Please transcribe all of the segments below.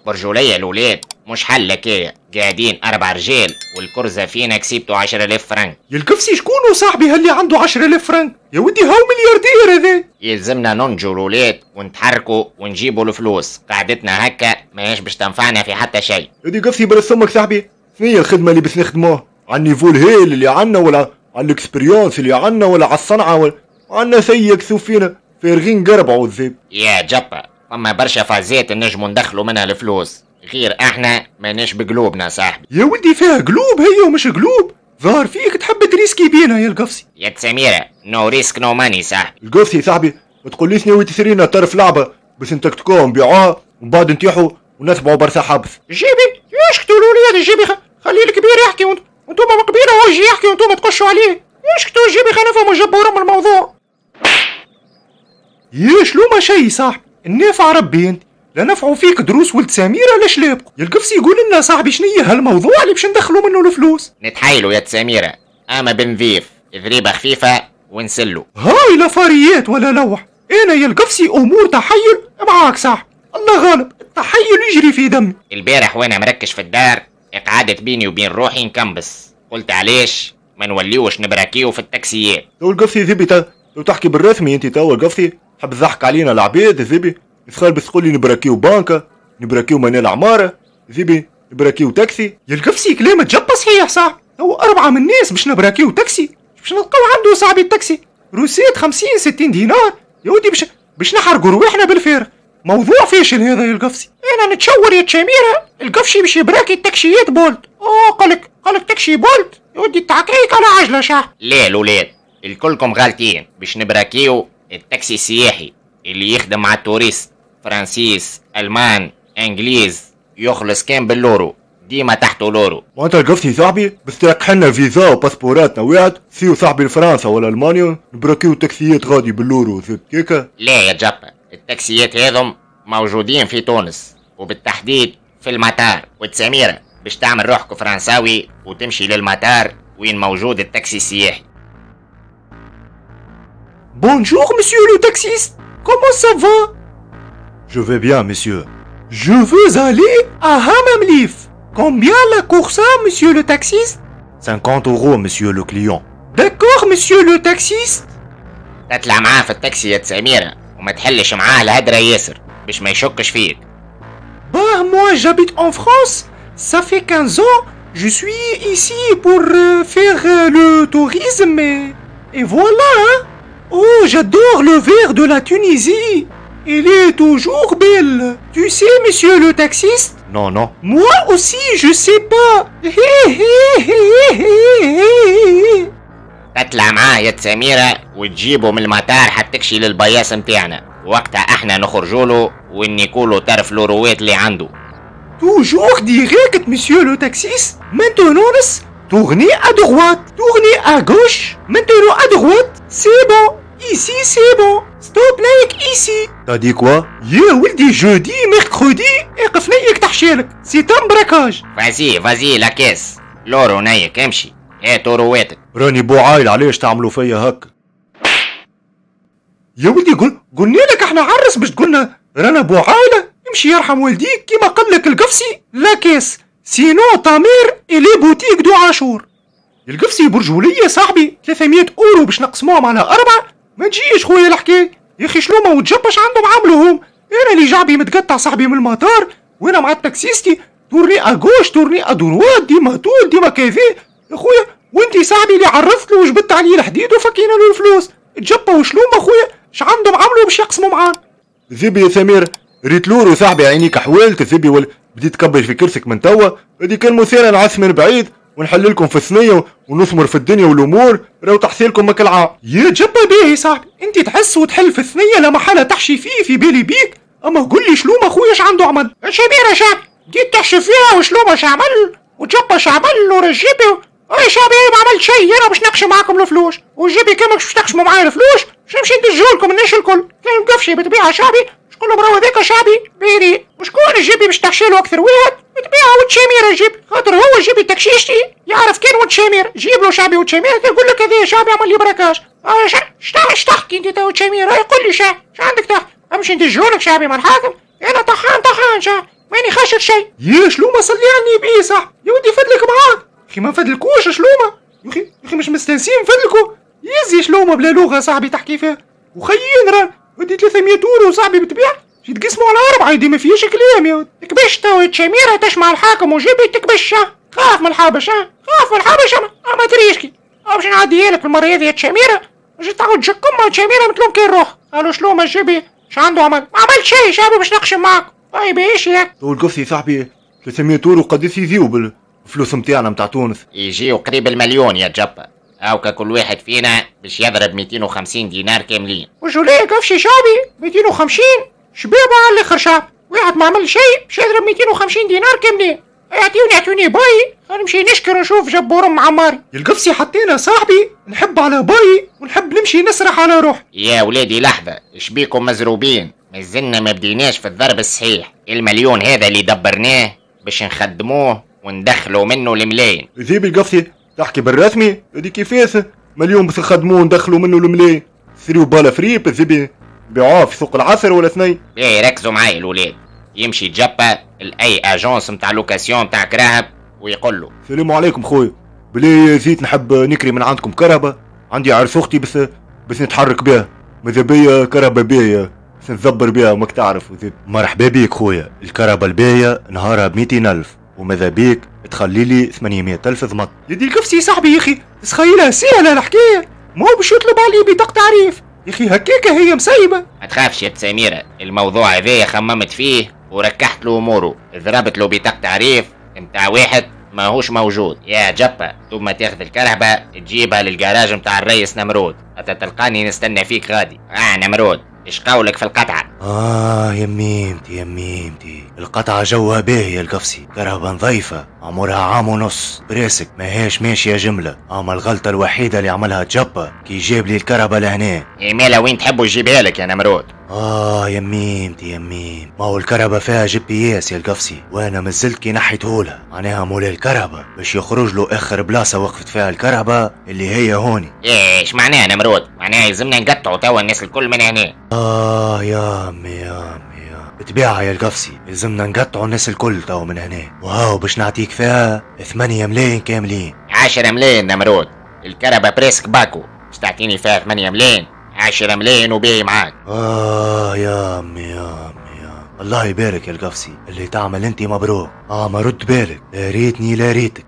برجولية الولاد مش حل كاية، قاعدين 4 رجال والكرزة فينا كسبتوا 10,000 فرنك. يا القفصي شكونو صاحبي هاللي عنده 10,000 فرنك؟ يا ودي هاو ملياردير هذا. يلزمنا ننجو الولاد ونتحركوا ونجيبوا الفلوس، قعدتنا هكا ماهيش باش تنفعنا في حتى شيء. يا دي قفصي برا سمك صاحبي، شنو هي الخدمة اللي باش نخدموها؟ على ال niveau الهيل اللي عنا ولا على ال expérience اللي عنا ولا على الصنعة ولا عنا سيك فينا فارغين قربعوا الذيب. يا جبا فما برشا فازات نجمو ندخلوا منها الفلوس، غير احنا ماناش بقلوبنا صاحبي. يا ولدي فيها قلوب هي ومش قلوب، ظهر فيك تحب تريسكي بينا يا القفصي. يا سميرة no risk no money صاحبي. القفصي صاحبي ما تقوليش ناوي تشرينا طرف لعبة باش نتكتكوها نبيعوها ومن بعد نتيحوا ونتبعوا برشا حبس. جيبي يشكتوا الولاد جيبي، خلي الكبير يحكي وانتم من قبيلة هو يجي يحكي وانتم تقشوا عليه. يشكتوا جيبي خلينا نفهموا جبورهم الموضوع. يا شلو ما شي صاحبي، النافع ربي انت لا نفعوا فيك دروس ولد سميرة لا شلابكم. يا القفصي يقول لنا صاحبي شنية هالموضوع اللي باش ندخلوا منه الفلوس؟ نتحايلوا يا سميرة، اما بنضيف ذريبة خفيفة ونسلو. هاي لا فاريات ولا لوح، انا يا القفصي امور تحيل معاك صاحبي، الله غالب التحيل يجري في دمي. البارح وانا مركش في الدار قعدت بيني وبين روحي نكمبس، قلت علاش ما نوليوش نبراكيو في التاكسيات. تو القفصي ذبي تو تحكي بالرسمي انت تو القفصي تحب تضحك علينا العباد ذبي؟ تخيل بس تقول لي نبراكيو بانكا، نبراكيو منال عمارة، ذبي نبراكيو تاكسي. يا القفصي كلامك جبا صحيح صاحبي، هو 4 من الناس باش نبراكيو تاكسي، باش نلقاو عنده صاحبي التاكسي recette 50-60 دينار، يا ودي باش نحرقوا رواحنا بالفارغ. موضوع فاشل هذا يا القفصي. انا نتشور يا تشاميرة القفشي باش يبراكي التاكسيات بولت. اوه قالك تاكسي بولت، يا ودي التعكيك على عجلة شاح. لا الولاد الكلكم غالطين، باش نبراكيو التاكسي السياحي اللي يخدم مع ال touristes، فرنسيس المان انجليز، يخلص كان باللورو، ديما تحته l'euro. وانت القفصي صاحبي بس تركح لنا فيزا وباسبوراتنا واحد سيو صاحبي لفرنسا ولا المانيا نبراكيو تاكسيات غادي بال l'euro كيكا. لا يا جبا التاكسيات هذم موجودين في تونس وبالتحديد في المطار. وتسميرة باش تعمل روحك فرنساوي وتمشي للمطار وين موجود التاكسي السياحي. Bonjour monsieur le taxiste, comment ça va? Je vais bien monsieur. Je veux aller à Hammam-Lif. Combien la course monsieur le taxiste? 50 euros monsieur le client. D'accord monsieur le taxiste. تطلع معاه في التاكسي يا سميرة وما تحلش معاه الهدرة ياسر باش ما يشكش فيك. Bah moi j'habite en France, ça fait 15 ans, je suis ici pour faire le tourisme et voilà hein. Oh, j'adore le vert de la Tunisie. Il est toujours belle. Tu sais, monsieur le taxiste? Non, non. Moi aussi, je sais pas. تطلع معاه يا سميرة وتجيبه من المطار حتى تكشي للبياس متاعنا، وقتها احنا نخرجوله ونيكولو طرف لوروات اللي عنده. Toujours direct, monsieur le taxiste. Maintenant, tournez à droite, tournez à gauche, maintenant à droite, c'est bon. Ici c'est bon. Stop like ici. T'as dit quoi? يا ولدي jeudi mercredi اقف نيك تحشيلك. C'est un braquage. Vas-y vas-y la caisse l'euro نيك امشي هات اورواتك. راني بو عايل علاش تعملوا فيا هكا؟ يا ولدي قلنا لك احنا عرس باش تقولنا رانا بو عايلة. امشي يرحم والديك كيما قال لك القفصي la caisse sinon ta mère et les boutiques de عاشور. القفصي برجولية صاحبي 300 اورو باش نقسموهم على 4 ما تجيش خويا الحكاية. يا اخي شلومه وتجبش عندهم عملوهم. انا اللي جعبي متقطع صاحبي من المطار وانا مع التاكسيستي tournez à gauche tournez à droite ديما طول ديما كذا يا خويا، وانت صاحبي اللي عرفت له وجبت عليه الحديد وفكينا له الفلوس. تجبا وشلومه خويا اش عندهم عملوا باش يقسموا معانا؟ ذبي يا سمير ريت l'euro صاحبي عينيك حوالت ذبي ولا بديت تكبر في كرسك من توا. هذه كان مثيرة نعس من بعيد ونحل لكم في الثنية ونثمر في الدنيا والامور راهو تحصيلكم ماك العام. يا جبا باهي صاحبي انت تحس وتحل في الثنية لا محالة تحشي فيه في بالي بيك، اما قول لي شلومه خويا اش عنده عمل؟ شبيره شعبي بديت تحشي فيها وشلومه اش عمل وجبا اش عمل ورجيبي اي شعبي ما عملت شيء. انا باش نقش معاكم الفلوس وجيبي كامل باش تقشموا معايا الفلوس باش نمشي ندجولكم الناس الكل. كان قفشي بطبيعة شعبي شكون راهو هذاك شعبي بيري وشكون جيبي باش تحشي له اكثر واحد بطبيعة وتشامير جيب خاطر هو جيبي تكشيشتي يعرف كان وتشامير جيب له شعبي وتشامير يقول لك هذا شعبي عمل لي braquage. اش تحكي انت تو تشامير؟ يقول لي شا عندك تحت امشي ندجولك شعبي مع الحاكم. انا طحان طحان شا ماني خاشر شيء. يا شلومه صلي على النبي صاحبي، يا ودي فدلك معاك. اخي ما نفدلكوش شلومه، يا اخي مش مستانسين نفدلكو. يزي شلومه بلا لغة صاحبي تحكي فيها. وخيين راه ودي 300 اورو صاحبي بتبيع يتقسموا على 4، دي ما فيهاش كلام يا ودي. تكبش تو تشميره تشمع الحاكم وجيبي تكبش، خاف من الحبش، خاف من الحبش. ما تريشكي باش نعديها لك المرة هذه يا تشميره، باش تعاود تجكم تشميره متلوم كي نروح. قالوا شلومه جيبي اش عنده عمل؟ ما عملت شيء شعبي باش نقشم معاك. طيب ايش ياك؟ تو القفصي صاحبي 300 اورو قداش يجيو بالفلوس نتاعنا نتاع تونس؟ يجيو قريب المليون يا جبا. هاوكا كل واحد فينا باش يضرب 250 دينار كاملين. وجوليه قفشي شعبي 250 شبابه على الاخر شعب، واحد ما عمل شيء باش يضرب 250 دينار كاملين. يعطيوني باي، خلينا نمشي نشكر ونشوف جبورم عماري. القفصي حطينا صاحبي نحب على باي ونحب نمشي نسرح على روحي. يا ولادي لحظة، شبيكم مزروبين؟ مازلنا ما بديناش في الضرب الصحيح. المليون هذا اللي دبرناه باش نخدموه وندخلوا منه الملايين. ذيب القفصي تحكي بالرسمي؟ هذه كيفاش مليون باش نخدموه وندخلوا منه الملايين؟ سريو بالا فريب ذيبي بيعوه في سوق العصر ولا اثنين؟ ايه ركزوا معايا الولاد. يمشي جبا لاي agence نتاع location نتاع كراهب ويقول له السلام عليكم خويا، بلي زيت نحب نكري من عندكم كرهبه، عندي عرس اختي بس نتحرك بها، ماذا بيا كرهبه باهيه بس نتدبر بها وماك تعرف. مرحبا بيك خويا، الكرهبه الباهيه نهارها ب 200,000 وماذا بيك تخلي لي 800,000 ضمط. يدي الكفسي صاحبي يا اخي تسخيلها سهلة الحكاية، ما هو باش يطلب علي بطاقة تعريف يا اخي، هكاكا هي مسيبه. ما تخافش يا سميرة، الموضوع هذايا خممت فيه وركحت له اموره، ضربت له بطاقة تعريف نتاع واحد ماهوش موجود. يا جبا ثم تاخذ الكرهبة تجيبها للجراج نتاع الريس نمرود، حتى تلقاني نستنى فيك غادي. نمرود ايش قولك في القطعة؟ يا ميمتي يا ميمتي، القطعة جوها باهية القفصي، كرهبة نظيفة عمرها 1.5 عام، براسك ماهيش ماشية جملة. اما الغلطة الوحيدة اللي عملها جبا كي جاب لي الكرهبة لهنا. يا مالا وين تحبوا يجيبها لك يا نمرود؟ يا ميمتي يا ميم، ما هو الكرهبة فيها GPS يا القفصي، وانا مازلت كي نحيتهولها، معناها مولا الكرهبة باش يخرج له اخر بلاصة وقفت فيها الكرهبة اللي هي هوني. ايش معناها نمرود؟ معناها يلزمنا نقطعوا توا الناس الكل من هنا. يا امي يا امي يا بتبيعها يا القفصي، يلزمنا نقطعوا الناس الكل توا من هنا. وهاو باش نعطيك فيها 8 ملايين كاملين. 10 ملايين نمرود، الكرهبة presque باكو، باش تعطيني فيها 8 ملايين؟ 10 ملايين وباهي معاك. يا امي يا امي يا الله يبارك يا القفصي، اللي تعمل انت مبروك. ما رد بالك، لا ريتني لا ريتك.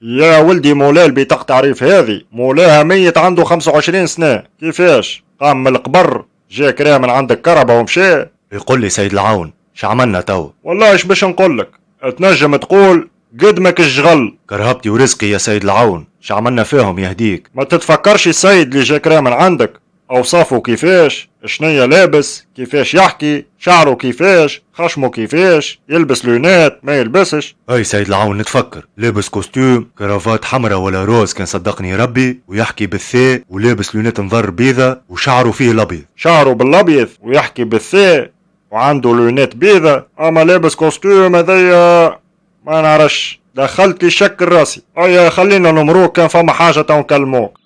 يا ولدي مولاي البطاقة تعريف هذه مولاها ميت عنده 25 سنة، كيفاش قام من القبر جا كراه من عندك كرهبة ومشى؟ يقول لي سيد العون اش عملنا تو؟ والله اش باش نقول لك، تنجم تقول قدمك الشغل. كرهبتي ورزقي يا سيد العون، اش عملنا فيهم يهديك؟ ما تتفكرش السيد اللي جا كراه من عندك اوصافه كيفاش، شنيا لابس، كيفاش يحكي، شعره كيفاش، خشمه كيفاش، يلبس lunettes ما يلبسش. اي سيد العون نتفكر، لابس costume cravate حمراء ولا rose كان صدقني ربي، ويحكي بالثاء، ولابس lunettes نظر بيضة، وشعره فيه الابيض. شعره بالابيض ويحكي بالثاء وعنده lunettes بيضة، اما لابس costume هذايا ما نعرفش، دخلت لي شك راسي. ايا خلينا نمروك، كان فما حاجة تو نكلموك.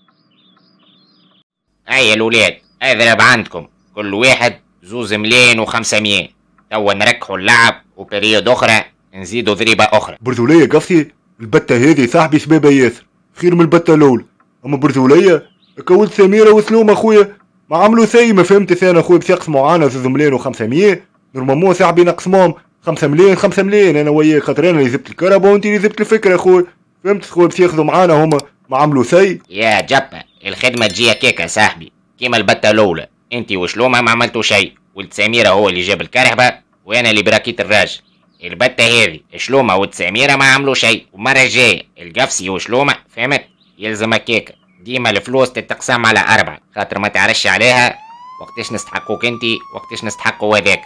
هيا الولاد اضرب عندكم كل واحد 2,5 ملايين، توا نركحوا اللعب و période اخرى نزيدوا ضريبة اخرى. برذوليه قفصي البته هذه صاحبي سبابه ياسر خير من البته الاولى، اما برذوليه كولت سميرة وسلوم اخويا ما عملوا سي، ما فهمت انا اخويا باش يقسموا عانا 2,5 ملايين، normalement صاحبي نقسموهم 5 ملايين 5 ملايين انا وياك، خاطر انا اللي جبت الكرهبة وانت اللي جبت الفكرة اخويا، فهمت خويا؟ باش ياخذوا معانا هما ما عملوا سي. يا جبا الخدمة تجي هكاكا صاحبي، كيما البته الاولى انت وشلومه ما عملتوا شيء، ولد سميرة هو اللي جاب الكرهبه وانا اللي براكيت الراجل. البته هذه شلومه ولد سميرة ما عملوا شيء، ومرة الجاية القفصي وشلومه، فهمت؟ يلزم هكاكا ديما الفلوس تتقسم على 4، خاطر ما تعرفش عليها وقتاش نستحقوك انت وقتاش نستحقوا هذاك،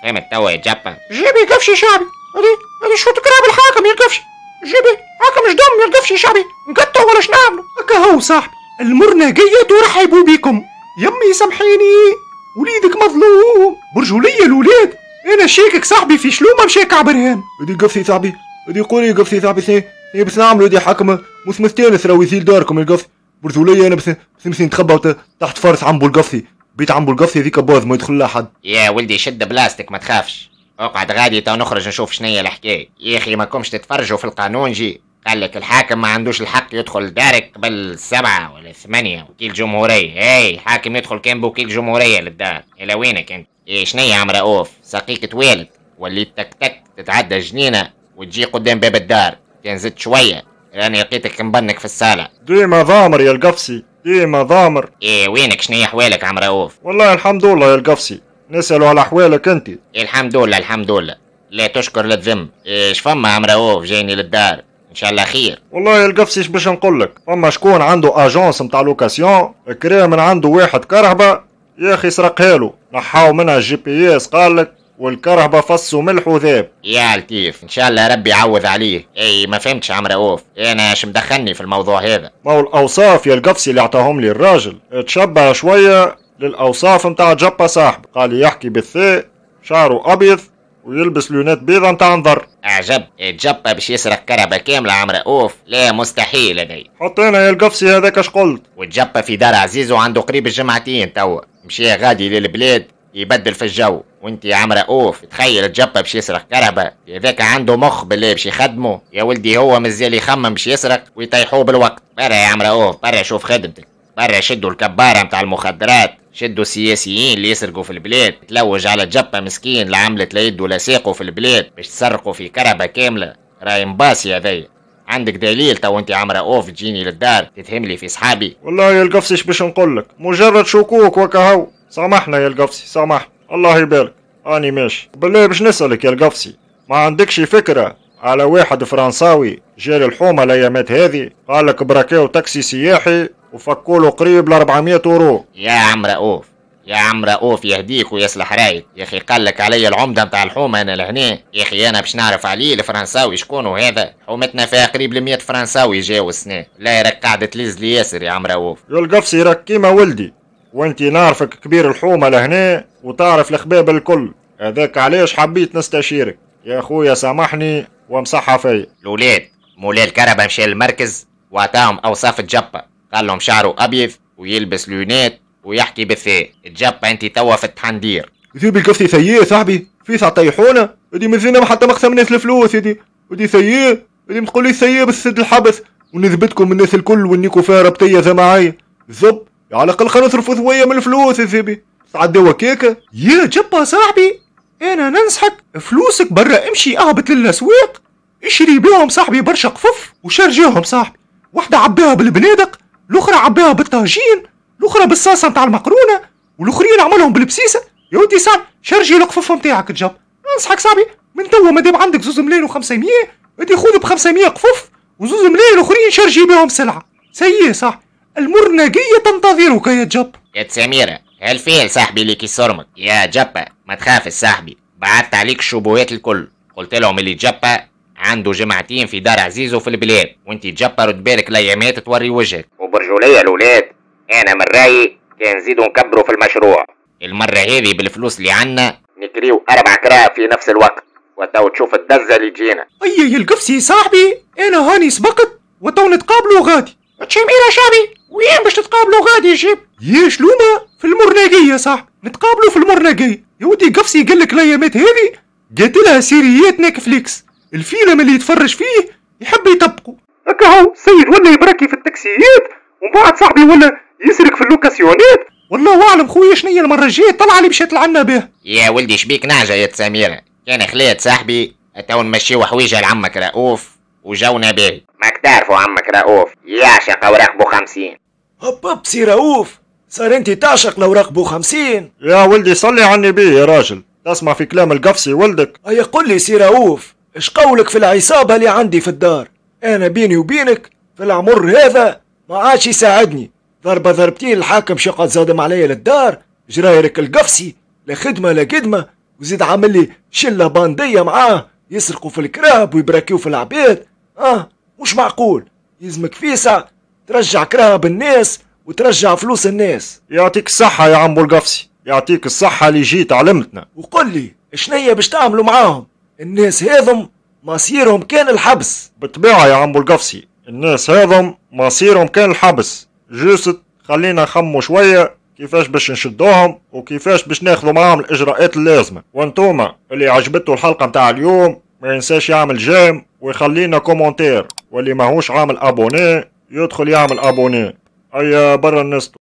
فهمت توا يا جبا؟ جيبي قفشي شعبي، هذه شو تكرهب الحاكم يا القفشي، جيبي حاكم جدم يا القفشي شعبي، نقطعوا ولا شنعملوا؟ هكا هو صاحبي المرناقية ترحبوا بكم. يمي سامحيني وليدك مظلوم، برجولية الولاد انا شاكك صاحبي في شلومه مشاك عبرهان. هذه قفصي صاحبي، هذه قولي قفصي صاحبي سي بس نعملوا هذه حاكمة مش مستانس راهو يزيل داركم القفصي. برجولية انا بس نمشي نتخبى تحت فرس عمبو القفصي، بيت عمبو القفصي هذيك باز ما يدخل لها حد. يا ولدي شد بلاستيك ما تخافش، اقعد غادي تو نخرج نشوف شنية الحكاية. يا اخي ما كومش تتفرجوا في القانون جي، قال لك الحاكم ما عندوش الحق يدخل دارك قبل 7 ولا 8 وكيل جمهورية. اي حاكم يدخل كان بوكيل جمهورية للدار. الى وينك انت؟ ايه شنية يا عم رؤوف؟ ساقيك توالد وليت تك تك تتعدى جنينة وتجي قدام باب الدار، كان زدت شوية راني لقيتك مبنك في الصالة. ديما ضامر يا القفصي، ديما ضامر. ايه وينك شنية حوالك عم رؤوف؟ والله الحمد لله يا القفصي، نسألوا على حوالك انت. إيه الحمد لله الحمد لله، لا تشكر لا تذم. ايش فما عم رؤوف جايني للدار؟ ان شاء الله خير. والله يا القفصي اش باش نقول لك، فما شكون عنده agence نتاع location، كرا من عنده واحد كرهبه يا اخي سرقها له، نحاو منها ال GPS قال لك، والكرهبه فص وملح وذاب. يا لطيف، ان شاء الله ربي يعوض عليه. اي ما فهمتش عم رؤوف، انا اش مدخلني في الموضوع هذا؟ ما هو الاوصاف يا القفصي اللي عطاهم لي الراجل تشبه شوية للاوصاف نتاع جبه صاحب، قال يحكي بالثاء، شعره ابيض ويلبس lunettes بيضة نتاع نظر. اعجب، جبه باش يسرق كرهبه كاملة عم رؤوف؟ لا مستحيل هذي. حطينا يا القفصي هذاك اش قلت. وتجبه في دار عزيز وعنده قريب الجمعتين توا، مشي غادي للبلاد يبدل في الجو، وانت يا عم رؤوف تخيل تجبه باش يسرق كرهبه، هذاك عنده مخ بالله باش يخدمه يا ولدي، هو مازال يخمم باش يسرق ويطيحوه بالوقت. برا يا عم رؤوف، برا شوف خدمتك، برا شدوا الكبارة متاع المخدرات، شدوا السياسيين اللي يسرقوا في البلاد، تلوج على جبه مسكين لا عملت لا يد ولا ساقوا في البلاد باش تسرقوا في كرهبه كاملة، راي مباسي هذايا. عندك دليل تو انت عم رؤوف تجيني للدار تتهم لي في صحابي؟ والله يا القفصي اش باش نقول لك، مجرد شكوك وكهو. سامحنا يا القفصي سامحنا، الله يبارك، اني ماشي. بالله باش نسألك يا القفصي، ما عندكش فكرة على واحد فرنساوي جا الحومة الايامات هذه، قال لك براكيو تاكسي سياحي وفكوا له قريب ل 400 اورو؟ يا عم رؤوف، يا عم رؤوف يهديك ويصلح رايك يا اخي، قال لك علي العمدة نتاع الحومه انا لهنا يا اخي، انا باش نعرف عليه الفرنساوي شكون هذا؟ حومتنا فيها قريب ل 100 فرنساوي جاو السنة، لا راك قاعدة تلز لي ياسر يا عم رؤوف. يا القفصي راك كيما ولدي، وانت نعرفك كبير الحومه لهنا وتعرف الخباب الكل، هذاك علاش حبيت نستشيرك يا خويا، سامحني وامسحها فيا. الولاد مولاي الكرهبه مشى للمركز وعطاهم اوصاف الجبه، قال لهم شعره ابيض ويلبس lunettes ويحكي بالثاء. الجبه انت توا في التحندير. ذيب القفصي سيء صاحبي، فيس طيحونا هذه مازلنا حتى ما خسرناش الفلوس هذه، هذه سيء، هذه تقول لي سيء بس الحبس ونثبتكم الناس الكل ونيكو فيها ربطيه جماعية زب، على الاقل خلينا نصرفوا شوية من الفلوس يا زبي، تعديوا كيكة. يا جبه صاحبي، انا ننصحك فلوسك برا امشي اهبط للاسواق، اشري بيهم صاحبي برشا قفف وشارجيهم صاحبي، واحدة عبيها بالبنادق، الاخرى عبيها بالطاجين، الاخرى بالصاصه نتاع المقرونه، والاخرين عملهم بالبسيسه. يا ودي صاحبي شارجي القفف نتاعك تجب، ننصحك صاحبي من توا مادام عندك 2,5 ملايين ادي خذ ب 500 قفف و2 ملايين اخرين شارجي بيهم سلعه. سيء صاحبي، المرنقية تنتظرك يا جب. يا سميرة هالفيل صاحبي اللي كيصرمك يا جبة، ما تخافش صاحبي، بعثت عليك الشبهات الكل، قلت لهم اللي جبة عنده جمعتين في دار عزيزو في البلاد، وانت جبة رد بالك الايامات توري وجهك. وبرجولية الولاد، انا من رايي كان نزيدو نكبروا في المشروع المرة هذه بالفلوس اللي عنا، نكريو 4 كرا في نفس الوقت، وتو تشوف الدزة اللي تجينا. اي يا القفصي صاحبي، انا هاني سبقت وتو نتقابلوا غادي. تشميرة شعبي، وين باش تتقابلوا غادي يا شيب؟ يا شلومة في المرناقية صاحبي، نتقابلوا في المرناقية. يا ودي قفصي قال لك الايامات هذه قاتلها سيريات نتفليكس، الفيلم اللي يتفرج فيه يحب يطبقه. هكا هو السيد ولا يبركي في التاكسيات، ومن بعد صاحبي ولا يسرق في اللوكاسيونات، والله اعلم خويا شنيا المرة الجاية طلع اللي مشات لعنا به. يا ولدي شبيك نعجة يا سميرة، كان خليت صاحبي تو نمشيو حويجة لعمك رؤوف وجونا باهي، ماك تعرفوا عمك رؤوف يعشق اوراق بو 50. هب هب سي رؤوف، صار انت تعشق الاوراق بو 50؟ يا ولدي صلي على النبي يا راجل، تسمع في كلام القفصي ولدك. هيا قل لي سي رؤوف، اش قولك في العصابة اللي عندي في الدار؟ انا بيني وبينك في العمر هذا ما عادش يساعدني، ضربة ضربتين الحاكم شقد زادم عليا للدار، جرايرك القفصي لا خدمة لا قدمة، وزيد عامل لي شلة باندية معاه يسرقوا في الكراب ويبراكيو في العباد. مش معقول، يلزمك فيسع ترجع كراب الناس وترجع فلوس الناس. يعطيك الصحة يا عمو القفصي، يعطيك الصحة اللي جيت علمتنا. وقل لي شنية باش تعملوا معاهم؟ الناس هذم مصيرهم كان الحبس. بالطبيعة يا عمو القفصي، الناس هذم مصيرهم كان الحبس، juste خلينا نخمو شوية كيفاش باش نشدوهم وكيفاش باش ناخذوا معاهم الاجراءات اللازمة. وانتوما اللي عجبته الحلقة متاع اليوم ما ينساش يعمل j'aime ويخلينا commentaire، واللي ماهوش عامل abonné يدخل يعمل abonné. هيا برا النستو.